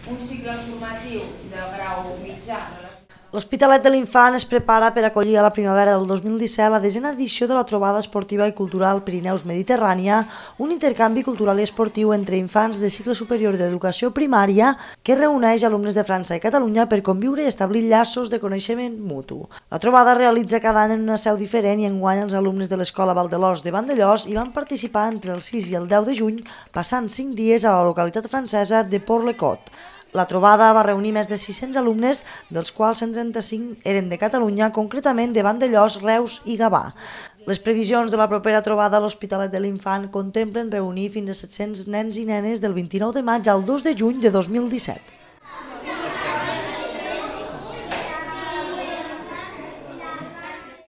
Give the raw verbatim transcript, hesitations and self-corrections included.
un cicle formatiu de grau mitjà. L'Hospitalet de l'Infant es prepara per acollir a la primavera del dos mil disset la desena edició de la trobada esportiva i cultural Pirineus Mediterrània, un intercanvi cultural i esportiu entre infants de cicle superior d'educació primària que reuneix alumnes de França i Catalunya per conviure i establir llaços de coneixement mutu. La trobada es realitza cada any en una seu diferent i enguany els alumnes de l'Escola Valdelós de Vandellòs hi van participar entre el sis i el deu de juny, passant cinc dies a la localitat francesa de Port-le-Côte. La trobada va reunir més de sis-cents alumnes, dels quals cent trenta-cinc eren de Catalunya, concretament de Vandellòs, Reus i Gavà. Les previsions de la propera trobada a l'Hospitalet de l'Infant contemplen reunir fins a set-cents nens i nenes del vint-i-nou de maig al dos de juny de dos mil disset.